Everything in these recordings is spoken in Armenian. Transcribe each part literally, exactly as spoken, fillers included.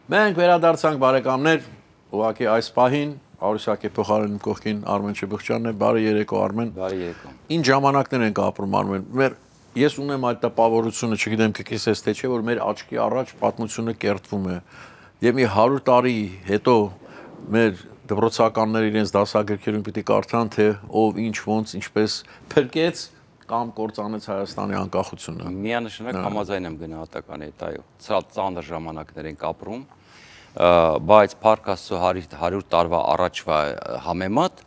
Մենք վերադարձանք բարեկամներ, ուղղակի այս պահին Արուսյակի փոխարեն կողքին Արմեն Չբխչյանն է, բարի երեկո Արմեն։ Բարի երեկո։ Ինչ ժամանակներ ենք ապրում Արմեն։ Մեր ես ունեմ այդ տպավորությունը, չգիտեմ կկիսես թե չէ, որ մեր աչքի առաջ պատմությունը կերտվում է։ Եվ մի հարյուր տարի հետո մեր դպրոցականները իրենց դասագրքերում պիտի կարդան, թե ով ինչ ոնց ինչպես փրկեց կամ կործանեց Հայաստանի անկախությունը։ Միանշանակ համաձայն եմ գնահատականի հետ, այո։ Սա ծանր ժամանակներ ենք ապրում, բայց Փառք Աստծո հարյուր տարվա առաջվա համեմատ,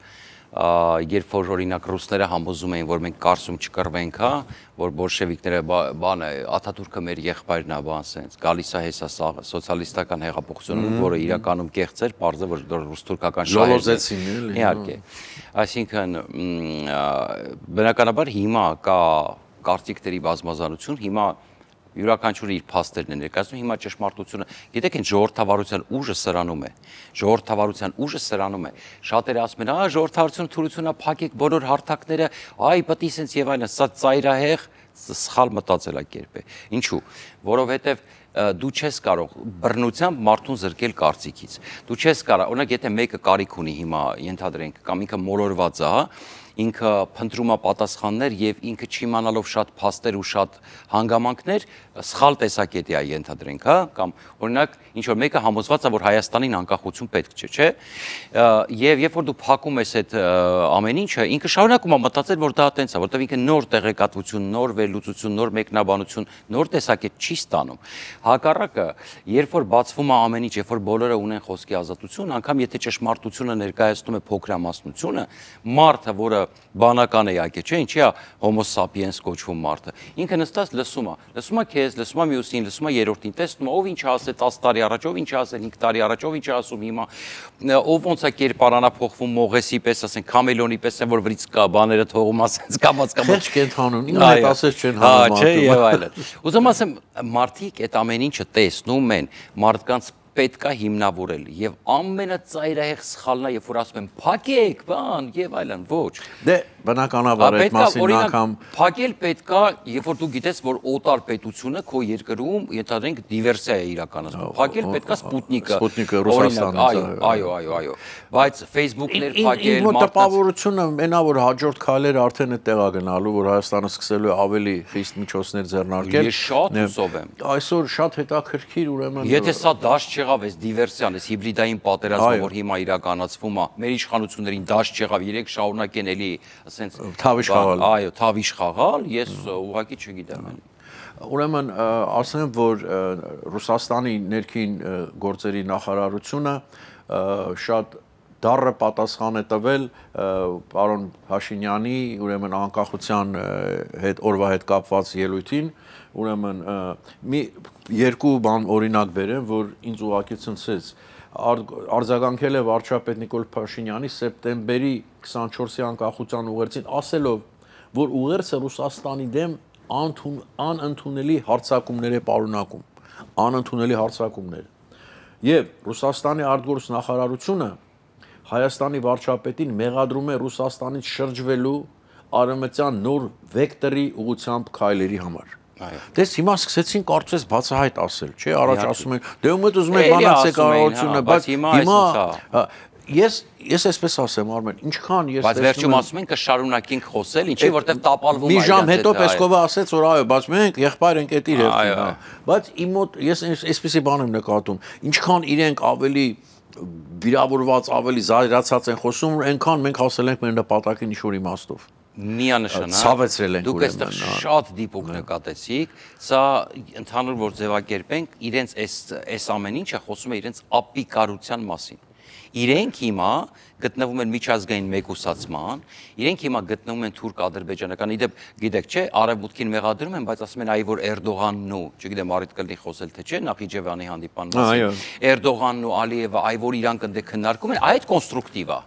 երբ որ օրինակ ռուսները համոզում էին, որ մենք Կարսում չկռվենք, հա, որ բոլշևիկները բանը Աթաթուրքը մեր եղբայրն է, բան սենց, գալիս է հեսա սոցիալիստական հեղափոխությունը, որը իրականում կեղծ էր, պարզ է, որ ռուս-թուրքական շահերն են։ Իհարկե։ Այսինքն բնականաբար հիմա կա կարծիքների բազմազանություն, հիմա յուրաքանչյուրը իր փաստերն է ներկայացնում, հիմա ճշմարտությունը, գիտեք ինչ ժողովրդավարության ուժը սրանում է, ժողովրդավարության ուժը սրանում է, շատերը ասում են, ահա ժողովրդավարությունը թուլությունը փակեք բոլոր հարթակները, այ պտի սենց եւ այլն, սա ծայրահեղ սխալ մտածելակերպ է։ Ինչու՞, որովհետեւ դու չես կարող բռնությամբ մարդուն զրկել կարծիքից։ Դու չես կարող, օրինակ եթե մեկը կարիք ունի հիմա ենթադրենք կամ ինքը մոլորված է, հա, ինքը փնտրում է պատասխաններ եւ ինքը չիմանալով շատ փաստեր ու շատ հանգամանքներ սխալ տեսակետի է ենթադրենք, հա, կամ օրինակ ինչ որ մեկը համոզված է, որ Հայաստանին անկախություն պետք չէ, չէ՞։ Եվ երբ որ դու փակում ես այդ ամեն ինչը, ինքը շարունակում է մտածել, որ դա տենց է, որտեղ ինքը նոր տեղեկատվություն, նոր վերլուծություն, նոր մեկնաբանություն, նոր տեսակետ չի ստանում։ Հակառակը, երբ որ բացվում է ամեն ինչ, երբ որ բոլորը ունեն խոսքի ազատություն, անգամ եթե ճշմարտությունը ներկայացնում է փոքրամասնությունը, մարդը, որը բանական է յակե, չէ, ինչի է Homo sapiens կոչվում մարդը։ Ինքը նստած լսում է, լսում է քեզ, լսում է մյուսին, լսում է երրորդին, տեսնում է ով ինչ ասել տասը տարի առաջ, ով ինչ ասել հինգ տարի առաջ, ով ինչ ասում հիմա, ով ոնց է կերպարանափոխվում Մողեսի պես, ասենք Քամելոնի պես, որ վրից կա բաները թողում ասենց կամած կամած կենթանում, ինքը հետ ասես չեն հանում։ Չէ, եւ այլն։ Ուզում ասեմ, մարդիկ այդ ամեն ինչը տեսնում են, մարդկանց պետք է հիմնավորել եւ ամենածայրահեղ սխալն է, երբ որ ասում են փակեք, բան եւ այլն, ոչ։ Դե բնականաբար այդ մասին անգամ փակել պետք է, երբ որ դու գիտես, որ օտար պետությունը քո երկրում ենթադրենք դիվերսիա է իրականացնում։ Փակել պետք է Սպուտնիկը։ Սպուտնիկը Ռուսաստանից։ Այո, այո, այո, այո։ Բայց Facebook-ներ փակել, մարդկանց տպավորությունը մենա որ հաջորդ քայլերը արդեն է տեղա գնալու, որ Հայաստանը սկսելու է ավելի խիստ միջոցներ ձեռնարկել։ Ես շատ հուսով եմ։ Այսօր շատ հետաքրքիր ուրեմն Եթե սա դաշտ չեղավ, այս դիվերսիան, այս հիբրիդային պատերազմը, որ հիմա իրականացվում է, մեր իշխանություններին դաշտ չեղավ, երեք շարունակեն էլի, ասենց թավիշ խաղալ։ Այո, թավիշ խաղալ, ես ուղղակի չգիտեմ։ Ուրեմն ասեմ, որ Ռուսաստանի ներքին գործերի նախարարությունը շատ դառը պատասխան է տվել պարոն Փաշինյանի ուրեմն անկախության հետ օրվա հետ կապված ելույթին, ուրեմն մի երկու բան օրինակ բերեմ, որ ինձ ուղղակի ցնցեց, արձագանքել է վարչապետ Նիկոլ Փաշինյանի սեպտեմբերի քսանչորսի անկախության ուղերձին, ասելով, որ ուղերձը Ռուսաստանի դեմ անընդունելի հարձակումներ է պարունակում, անընդունելի հարձակումներ։ Եվ Ռուսաստանի արտգործ նախարարությունը Հայաստանի վարչապետին մեղադրում է Ռուսաստանից շրջվելու արևմտյան նոր վեկտորի ուղղությամբ քայլերի համար։ Դες հիմա սկսեցին կարծես բացահայտ ասել, չէ, առաջ ասում են, դե ում ուզում եք բանացեք կառավարությունը, բայց հիմա ես ես այսպես ասեմ, Արմեն, ինչքան ես Բայց վերջում ասում են կշարունակենք խոսել, ինչի որտեղ տապալվում է։ Մի ժամ հետո Պեսկովը ասեց, որ այո, բայց մենք եղբայր ենք էդ իր հերթին, բայց իմ մոտ ես այսպեսի բան եմ նկատում, ինչքան իրենք ավելի վիրավորված, ավելի զայրացած են խոսում, այնքան մենք հասել ենք մեր նպատակին ինչ-որ իմաստով։ Միանշանակ ցավեցրել ենք դուք այստեղ շատ դիպուկ նկատեցիք, սա ընդհանուր որ ձևակերպենք, իրենց այս այս ամեն ինչը խոսում է իրենց ապիկարության մասին։ Իրենք հիմա գտնվում են միջազգային մեկուսացման, իրենք հիմա գտնվում են թուրք-ադրբեջանական, իդեպ գիտեք չէ, արևմուտքին մեղադրում են, բայց ասում են այ որ Էրդողանն ու, չգիտեմ, առիթ կլինի խոսել թե չէ, Նախիջևանի հանդիպան մասին, Էրդողանն ու Ալիևը այ որ իրանք ընդ քննարկում են, այդ կոնստրուկտիվ է։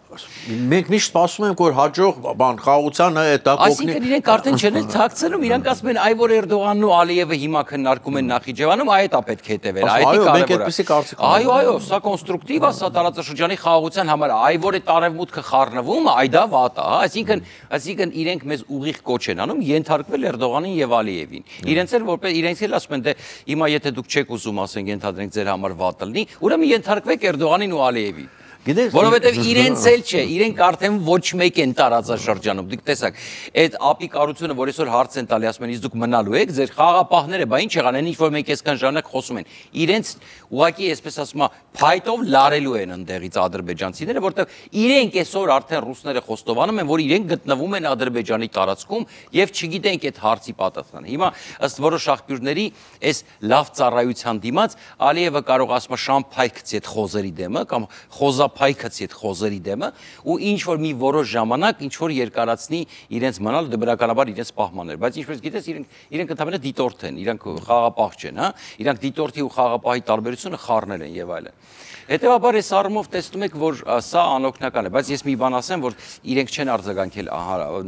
Մենք միշտ սպասում ենք, որ հաջող բան խաղաղության այդ Այսինքն իրենք արդեն չեն էլ թաքցնում, իրանք ասում են, այ որ Էրդողանն ու Ալիևը հիմա քննարկում են Նախիջևանում, այ դա պետք է հետևել, այ դա կարևոր է։ Այո, այո, սա կոնստրուկտիվ է, սա տարածաշրջանի խաղաղության համար, այ որ այդ արևմուտքը խառնվում, այ դա վատ է, այսինքն, այսինքն իրենք մեզ ուղիղ կոչ են անում ենթարկվել Էրդողանին եւ Ալիևին։ Իրենց էլ որպես իրենց էլ ասում են, դե հիմա եթե դուք չեք ուզում, ասենք ենթադրենք ձեր համար վատ լինի, ուրեմն ենթարկվեք Էրդողանին ու Ալիևին։ Որովհետև իրենց էլ չէ, իրենք արդեն ոչ մեկ են տարածաշրջանում։ Դուք տեսաք, այդ ապիկարությունը, որ այսօր հարց են տալի, ասում են, իսկ դուք մնալու եք, ձեր խաղապահները, բա ինչ եղան, այն ինչ որ մենք այսքան ժամանակ խոսում են։ Իրենց ուղղակի, այսպես ասում, փայտով լարելու են ընդեղից ադրբեջանցիները, որովհետև իրենք այսօր արդեն ռուսները խոստովանում են, որ իրենք գտնվում են Ադրբեջանի տարածքում եւ չգիտենք այդ հարցի պատասխանը։ Հիմա ըստ որոշ աղբյուրների, այս լավ ծառայության դիմաց Ալիևը կարող ասում է շամփայքցի այդ խոզերի դեմը կամ խոզա փայքացի այդ խոզերի դեմը ու ինչ որ մի որոշ ժամանակ ինչ որ երկարացնի իրենց մնալ դե բնականաբար իրենց պահմաններ, բայց ինչպես գիտես իրենք իրենք ընդհանրապես դիտորդ են, իրենք խաղապահ չեն, հա, իրանք դիտորդի ու խաղապահի տարբերությունը խառնել են եւ այլն։ Հետևաբար այս առումով տեսնում եք, որ սա անօգնական է, բայց ես մի բան ասեմ, որ իրենք չեն արձագանքել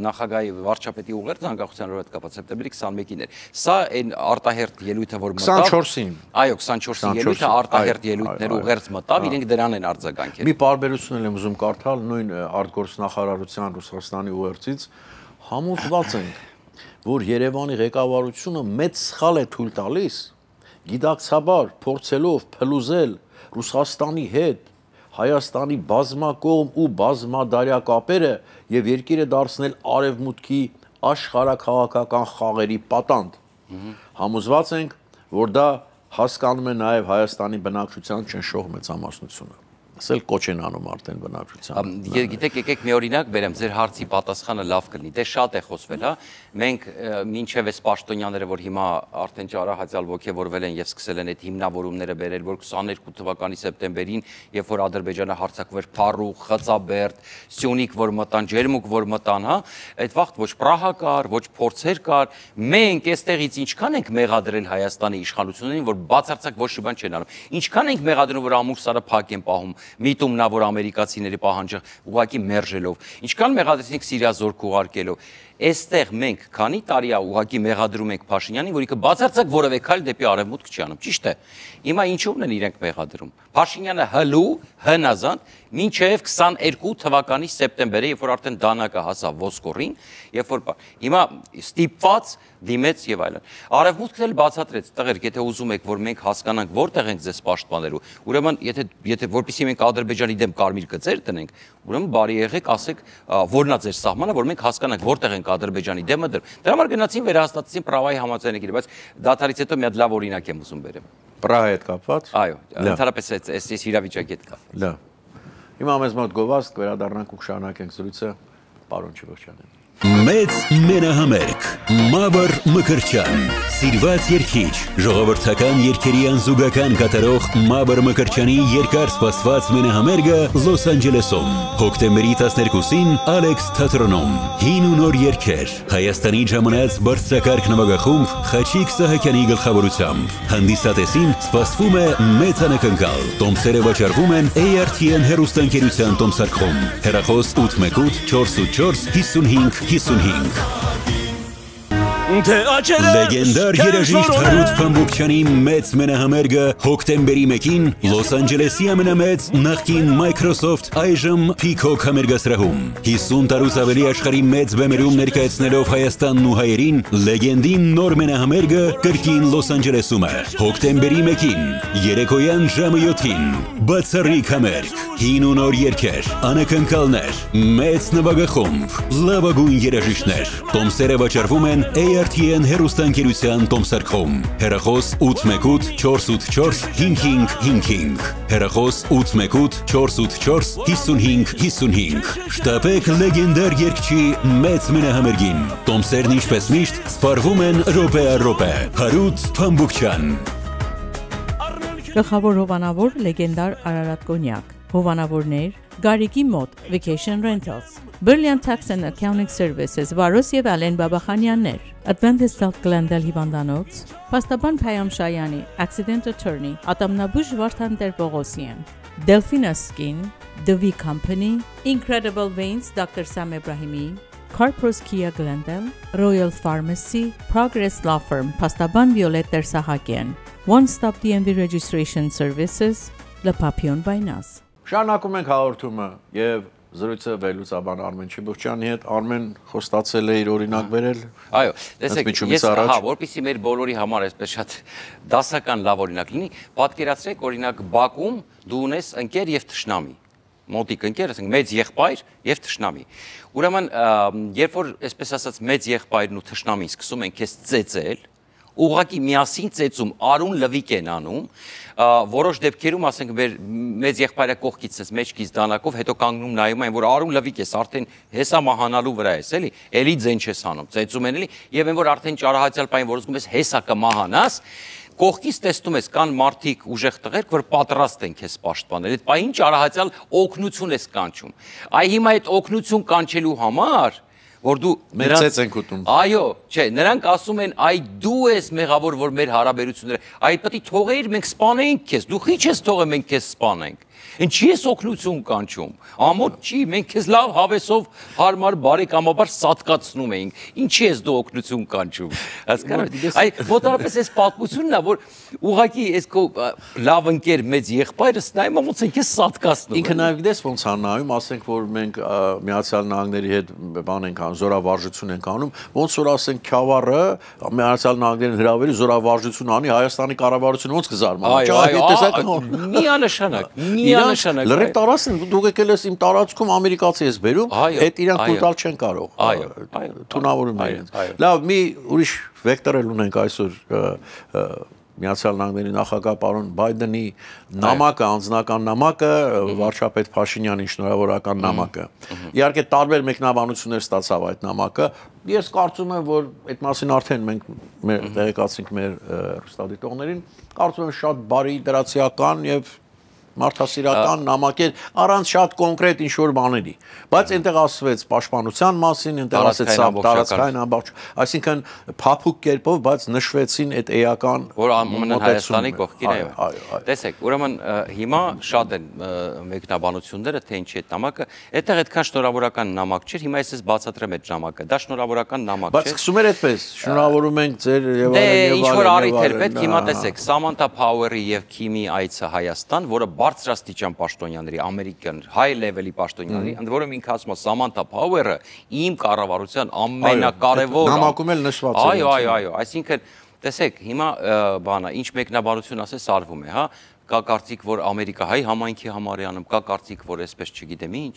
նախագահի վարչապետի ուղերձ անկախության օրը հետ կապված սեպտեմբերի քսանմեկին էր։ Սա այն արտահերթ ելույթը, որ մտավ քսանչորսին։ Այո, քսանչորսին ելույթը արտահերթ ելույթներ ուղերձ մտավ, իրենք դրան են արձագանքել։ Մի պարբերություն եմ ուզում կարդալ նույն արտգործնախարարության Ռուսաստանի ուղերձից, համոզված ենք, որ Երևանի ղեկավարությունը մեծ սխալ է թույլ տալիս, գիտակցաբար փորձելով փլուզել Ռուսաստանի հետ Հայաստանի բազմակողմ ու բազմադարյա կապերը եւ երկիրը դարձնել արևմուտքի աշխարհաքաղաքական խաղերի պատանդ։ Համոզված ենք, որ դա հասկանում է նաեւ Հայաստանի բնակչության չնշող մեծամասնությունը։ Ասել կոչ են անում արդեն բնակչության։ Գիտեք, եկեք մի օրինակ բերեմ, ձեր հարցի պատասխանը լավ կլինի։ Դե շատ է խոսվել, հա։ Մենք մինչև այս պաշտոնյաները, որ հիմա արդեն ճարահացյալ ոգևորվել են եւ սկսել են այդ հիմնավորումները բերել, որ քսաներկու թվականի սեպտեմբերին, երբ որ Ադրբեջանը հարձակվեր Փարուխ, Խծաբերդ, Սյունիք, որ մտան, Ջերմուկ, որ մտան, հա, այդ վաղտ ոչ Պրահա կար, ոչ փորձեր կար։ Մենք այստեղից ինչքան ենք մեղադրել Հայաստանի իշխանություններին, որ բացարձակ ոչ մի բան չեն անում։ Ինչքան ենք մեղադրում, որ ամուսարը փակ են պահում, միտումնա, որ ամերիկացիների պահանջը ուղղակի մերժելով, ինչքան մեղադրեցինք Սիրիա զորք ուղարկելով, այստեղ մենք քանի տարի է ուղղակի մեղադրում ենք Փաշինյանին, որ ինքը բացարձակ որևէ քայլ դեպի արևմուտք չի անում, ճիշտ է։ Հիմա ինչու՞մն են իրենք մեղադրում։ Փաշինյանը հլու, հնազանդ, մինչև քսաներկու թվականի սեպտեմբերը, երբ որ արդեն դանակը հասավ ոսկորին, երբ որ հիմա ստիպված դիմեց եւ այլն։ Արևմուտքն էլ բացատրեց, տղերք, եթե ուզում եք, որ մենք հասկանանք որտեղ ենք ձեզ պաշտպանելու, ուրեմն եթե եթե որպեսզի մենք Ադրբեջանի դեմ կարմիր գծեր տնենք, ուրեմն բարի եղեք, ասեք, որն է ձեր սահմանը, որ մենք հասկանանք որտեղ ենք Ադրբեջանի դեմը դրում։ Դրա համար գնացին վերահաստատեցին Պրահայի համաձայնագիրը, բայց դաթարից հետո մի հատ լավ օրինակ եմ ուզում բերեմ։ Պրահայի հետ կապված։ Այո, ընդհանրապես այս այս իրավիճակի հետ կապ։ Լավ։ Հիմա մեզ մոտ գովազդ կվերադառնանք ու կշարունակենք զրույցը, պարոն Չիվոչյանին։ Մեծ մենահամերգ Մավր Մկրտչյան Սիրված երգիչ ժողովրդական երգերի անզուգական կատարող Մավր Մկրտչյանի երկար սպասված մենահամերգը Լոս Անջելեսում հոկտեմբերի տասներկուսին Ալեքս թատրոնում հին ու նոր երգեր Հայաստանի ժամանած բարձրակարգ նվագախումբ Խաչիկ Սահակյանի գլխավորությամբ հանդիսատեսին սպասվում է մեծ անակնկալ տոմսերը վաճառվում են A R T N հեռուստաընկերության տոմսարկղում հեռախոս ութ մեկ ութ չորս ութ չորս հիսունհինգ հիսունհինգ Լեգենդար երաժիշտ Հարութ Փամբուկչյանի մեծ մենահամերգը հոկտեմբերի մեկին Լոս Անջելեսի ամենամեծ նախկին Microsoft այժմ Peacock համերգասրահում հիսուն տարուց ավելի աշխարհի մեծ բեմերում ներկայացնելով Հայաստանն ու հայերին լեգենդին նոր մենահամերգը կրկին Լոս Անջելեսում է հոկտեմբերի մեկին երեկոյան ժամը յոթին բացառիկ համերգ հին ու նոր երգեր անակնկալներ մեծ նվագախումբ լավագույն երաժիշտներ տոմսերը վաճառվում են A R T N հեռուստաընկերության տոմսարկղում հեռախոս ութ մեկ ութ չորս ութ չորս հինգ հինգ հինգ հեռախոս ութ մեկ ութ չորս ութ չորս հիսունհինգ հիսունհինգ շտապեք լեգենդար երգչի մեծ մենահամերգին տոմսերն ինչպես միշտ սպառվում են րոպե առ րոպե Հարութ Փամբուկչյան Գլխավոր հովանավոր լեգենդար Արարատ Կոնյակ հովանավորներ Գարիկի մոտ Vacation Rentals, Brilliant Tax and Accounting Services, Վարոս եւ Ալեն Բաբախանյաններ, Adventist Health Glendale հիվանդանոց, Պաստաբան Փայամ Շայանի, Accident Attorney, Ատամնաբույժ Վարդան Տեր-Պողոսյան, Delphina Skin, The V Company, Incredible Veins, Doctor Sam Ebrahimi, Carpros Kia Glendale, Royal Pharmacy, Progress Law Firm, Պաստաբան Վիոլետ Տեր-Սահակյան, One Stop D M V Registration Services, Le Papillon by Nas. Շարունակում ենք հաղորդումը եւ զրույցը վերլուծաբան Արմեն Չիբուխյանի հետ։ Արմեն խոստացել է իր օրինակ վերել։ Այո, տեսեք, ես հա, որպեսզի մեր բոլորի համար այսպես շատ դասական լավ օրինակ լինի, պատկերացրեք օրինակ Բաքում դու ունես ընկեր եւ թշնամի։ Մոտիկ ընկեր, ասենք մեծ եղբայր եւ թշնամի։ Ուրեմն, երբ որ այսպես ասած մեծ եղբայրն ու թշնամին սկսում են քեզ ծեծել, ուղղակի միասին ծեծում, արուն լվիկ են անում, որոշ դեպքերում, ասենք, մեր մեծ եղբայրը կողքից ես մեջքից դանակով, հետո կանգնում նայում են, որ արուն լվիկ ես, արդեն հեսա մահանալու վրա ես, էլի, էլի ձեն չես անում, ծեծում են էլի, եւ այն որ արդեն ճարահացյալ պայն, որ ուզում ես հեսա կմահանաս, կողքից տեսնում ես կան մարդիկ ուժեղ տղերք, որ պատրաստ են քեզ պաշտպանել, այդ պահին ճարահացյալ օգնություն ես կանչում։ Այ հիմա այդ օգնություն կանչելու համար որ դու մեծեց ենք ուտում։ Այո, չէ, նրանք ասում են, այ դու ես մեղավոր, որ մեր հարաբերությունները, այ պետք է թողեիր մենք սպանենք քեզ, դու խի չես թողել մենք քեզ սպանենք։ Ինչի ես օգնություն կանչում։ Ամոթ չի, մենք քեզ լավ հավեսով հարմար բարեկամաբար սատկացնում էինք։ Ինչի ես դու օգնություն կանչում։ Հասկանու՞մ։ Այ մոտավորապես այս պատմությունն է, որ ուղղակի այս քո լավ ընկեր մեծ եղբայրս նայում ոնց են քեզ սատկացնում։ Ինքը նաև գիտես ոնց է նայում, ասենք որ մենք Միացյալ Նահանգների հետ բան ենք անում, զորավարժություն ենք անում, ոնց որ ասենք Քյավառը Միացյալ Նահանգներին հրավերի զորավարժություն անի, Հայաստանի կառավարությունը ոնց կզարմանա։ Այո, այո, միանշանակ, միանշանակ։ Լրիվ տարածքն դու եկել ես իմ տարածքում ամերիկացի ես բերում, այդ իրանք կուտալ չեն կարող։ Այո, այո, թունավորում են։ Լավ, մի ուրիշ վեկտոր էլ ունենք այսօր Միացյալ Նահանգների նախագահ պարոն Բայդենի նամակը, անձնական նամակը, վարչապետ Փաշինյանի շնորհավորական նամակը։ Իհարկե տարբեր մեկնաբանություններ ստացավ այդ նամակը։ Ես կարծում եմ, որ այդ մասին արդեն մենք մեր տեղեկացինք մեր հեռուստադիտողներին, կարծում եմ շատ բարի դրացիական եւ մարդասիրական նամակեր առանց շատ կոնկրետ ինչ-որ բաների, բայց այնտեղ ասվեց պաշտպանության մասին, այնտեղ ասեց տարածքային ամբողջ, այսինքն փափուկ կերպով, բայց նշվեցին այդ էական, որ ամենն Հայաստանի կողքին է։ Տեսեք, ուրեմն հիմա շատ են մեկնաբանությունները, թե ինչի այդ նամակը, այդտեղ այդքան շնորհավորական նամակ չէր, հիմա ես բացատրեմ այդ նամակը, դա շնորհավորական նամակ չէ։ Բայց սկսում էր այդպես, շնորհավորում ենք ձեր եւ այլն եւ այլն։ Դե ինչ որ առիթ էր պետք, հիմա տեսեք, Սամանթա Փաուերի եւ Քիմի այցը Հայաստան, որը բարձրաստիճան պաշտոնյաների, ամերիկյան high level-ի պաշտոնյաների, ընդ որում ինքը ասում է Սամանթա Փաուերը իմ կառավարության ամենակարևոր նամակում էլ նշված է։ Այո, այո, այո, այսինքն տեսեք, հիմա բանա, ինչ մեկնաբանություն ասես արվում է, հա, կա կարծիք, որ Ամերիկա-հայ համայնքի համար է անում, կա կարծիք, որ այսպես չգիտեմ ինչ,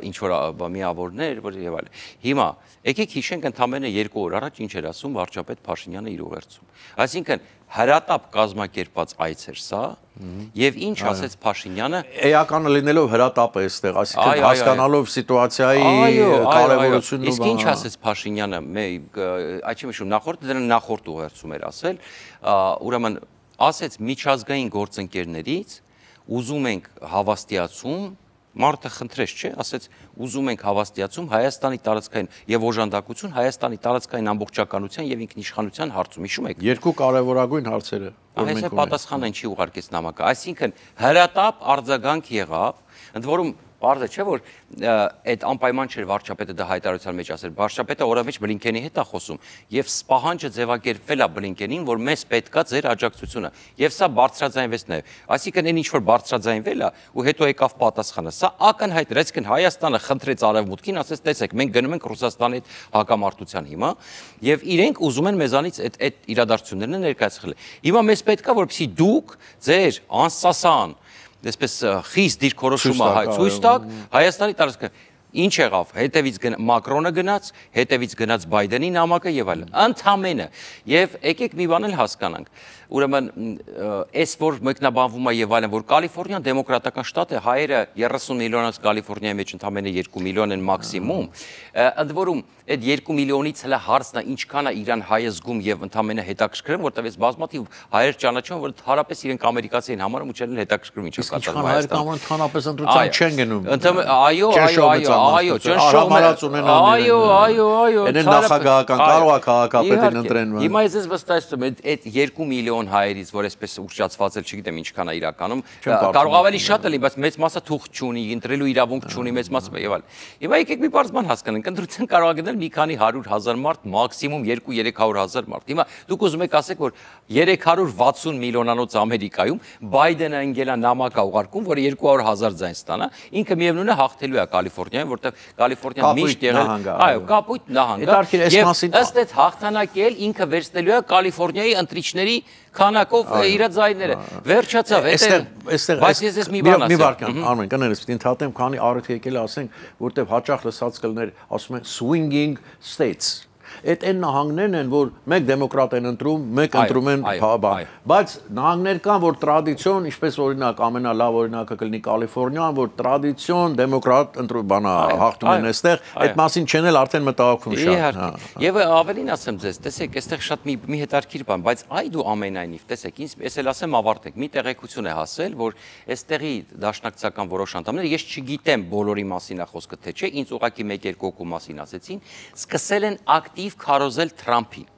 ինչ որ միավորներ, որ եւ այլն։ Հիմա եկեք հիշենք ընդամենը երկու օր առաջ ինչ էր ասում վարչապետ Փաշինյանը իր ուղերձում։ Այսինքն հրատապ կազմակերպած այց էր սա, եւ ինչ ասեց Փաշինյանը, էականը լինելով հրատապ է այստեղ, այսինքն հասկանալով սիտուացիայի կարևորությունն ու իսկ ինչ ասեց Փաշինյանը, այդ չի միշտ նախորդ դրան նախորդ ուղերձում էր ասել, ուրեմն ասեց միջազգային գործընկերներից ուզում ենք հավաստիացում, մարդը խնդրեց, չէ, ասեց ուզում ենք հավաստիացում Հայաստանի տարածքային եւ օժանդակություն Հայաստանի տարածքային ամբողջականության եւ ինքնիշխանության հարցում, հիշում եք։ Երկու կարևորագույն հարցերը, որ մենք ունենք։ Այսինքն պատասխանը ինչի ուղարկեց նամակը, այսինքն հրատապ արձագանք եղավ, ընդ որում Պարզը չէ, որ այդ անպայման չէր վարչապետը դա հայտարարության մեջ ասել, վարչապետը օրավեջ Բլինքենի հետ է խոսում եւ սպահանջը ձևակերպվել է Բլինքենին, որ մեզ պետքա ձեր աջակցությունը եւ սա բարձրաձայնվեց նաեւ, այսինքն այն ինչ որ բարձրաձայնվել է ու հետո եկավ պատասխանը, սա ակնհայտ էր, այսինքն Հայաստանը խնդրեց Արևմուտքին, ասեց տեսեք, մենք գնում ենք Ռուսաստանի հետ հակամարտության հիմա եւ իրենք ուզում են մեզանից այդ այդ իրադարձություններն ներկայացնել։ Հիմա մեզ պետքա, որպեսզի դուք ձեր անսասան այսպես խիստ դիրքորոշումը ցույց տաք Հայաստանի տարածքը։ Ինչ եղավ, հետևից Մակրոնը գնաց, հետևից գնաց Բայդենի նամակը եւ այլն։ Ընդամենը։ Եվ եկեք մի բան էլ հասկանանք։ Ուրեմն այս որ մեկնաբանվում է եւ այլն, որ Կալիֆոռնիան դեմոկրատական շտատ է, հայերը երեսուն միլիոնից Կալիֆոռնիայի մեջ ընդամենը երկու միլիոն են մաքսիմում։ Ընդ որում այդ երկու միլիոնից հələ հարցն է ինչքան է Իրան հայը զգում եւ ընդամենը հետաքրքրում, որտեղ այս բազմաթիվ հայեր ճանաչում, որ հարաբերս իրենք ամերիկացի են համարում ու չեն հետաքրքրում ինչա կատարվում հայեր կամ ընդհանրապես ընտրության չեն գնում։ Այո, այո, այո, այո, ճնշում են։ Այո, այո, այո։ Այն նախագահական կարող է քաղաքապետին ընտրեն։ Հիմա ես ես վստահեցնում եմ այդ երկու միլիոն հայերից, որ այսպես ուռճացված էլ չգիտեմ ինչքան է իրականում, կարող ավելի շատ լինի, բայց մեծ մասը թուղթ չունի, ընտրելու իրավունք չունի, մեծ մասը եւ այլն։ Հիմա եկեք մի բարձ բան հասկանանք, ընտրության կարող է գնել մի քանի հարյուր հազար մարդ, մաքսիմում երկու-երեք հարյուր հազար մարդ։ Հիմա դուք ուզում եք ասեք, որ երեք հարյուր վաթսուն միլիոնանոց Ամերիկայում Բայդենը ընկել է նամակ ուղարկում, որ երկու հարյուր հազար ձայն ստանա, ինքը միևնույն է հաղթելու է Կալիֆոռնիայում, որտեղ Կալիֆոռնիան միշտ եղել, այո, կապույտ նահանգ է։ Եվ ըստ այդ հաղթանակի էլ ինքը վերցնելու է Կալիֆոռնիայի ընտրիչների քանակով իր ձայները։ Վերջացավ, այստեղ բայց ես ես մի բան ասեմ։ Մի վարքան, Արմեն, կներես, պիտի ընդհատեմ, քանի առիթ եկել ասենք, որտեղ հաճախ լսած կլներ, ասում են swinging states։ Այդ այն նահանգներն են, որ մեկ դեմոկրատ են ընտրում, մեկ ընտրում են բան։ Բայց նահանգներ կան, որ տրադիցիոն, ինչպես օրինակ ամենալավ օրինակը կլինի Կալիֆոռնիան, որ տրադիցիոն դեմոկրատ ընտրում բանա հաղթում են այստեղ, այդ մասին չեն էլ արդեն մտահոգվում շատ։ Եվ ավելին ասեմ ձեզ, տեսեք, այստեղ շատ մի հետաքրքիր բան, բայց այ դու ամենայնիվ, տեսեք, ես էլ ասեմ ավարտեք, մի տեղեկություն է հասել, որ այստեղի դաշնակցական որոշ անդամներ, ես չգիտեմ բոլորի մասին է խոսքը թե չէ, ինձ ուղղակի մեկ-երկու հոգու մասին ասեցին, սկսել են ակտիվ քարոզել Թրամփին։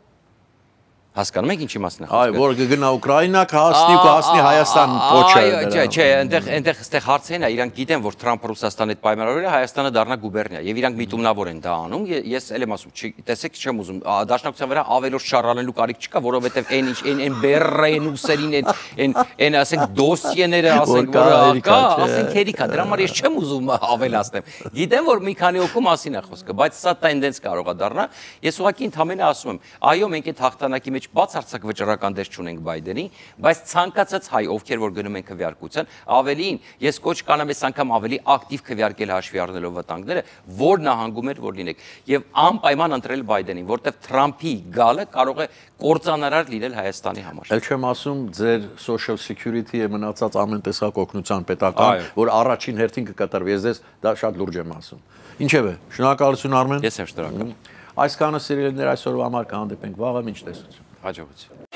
Հասկանում եք ինչի մասին է խոսքը։ Այո, որ կգնա Ուկրաինա, կհասնի ու կհասնի Հայաստան փոչը։ Այո, չէ, այնտեղ այնտեղ այստեղ հարցերն է, իրանք գիտեն, որ Թրամփը Ռուսաստանի հետ պայմանավորել է, Հայաստանը դառնա գուբերնիա, եւ իրանք միտումնավոր են դա անում։ Ես էլ եմ ասում, տեսեք, չեմ ուզում դաշնակցության վրա ավելորդ շարալելու կարիք չկա, որովհետեւ այն ինչ այն այն բերրեն ուսերին այն այն ասենք դոսիեները ասենք որ կա, ասենք հերիքա, դրա համար ես չեմ ուզում ավելացնեմ։ Գիտեմ, որ մի քանի օկու մասին է խոսքը, բայց սա տենդենս կարող է դառնա։ Ես ուղղակի ընդհանրապես ասում եմ, այո, մենք այդ հաղթանակի մեջ բացարձակ վճռական դեր չունենք Բայդենի, բայց ցանկացած հայ, ովքեր որ գնում են քվեարկության, ավելին, ես կոչ կանեմ այս անգամ ավելի ակտիվ քվեարկել հաշվի առնելով վտանգները, որ նահանգում էր որ լինեք, եւ անպայման ընտրել Բայդենին, որտեվ Թրամփի գալը կարող է կործանարար լինել Հայաստանի համար։ Էլ չեմ ասում ձեր social security-ը մնացած ամեն տեսակ օգնության պետական, որ առաջին հերթին կկատարվի, ես դες դա շատ լուրջ եմ ասում։ Ինչևէ, շնորհակալություն Արմեն։ Ես եմ շնորհակալ։ Այսքանը սիրելիներ այսօրվա համար կհանդիպենք վաղը, մինչ տեսություն։ Հաջողություն։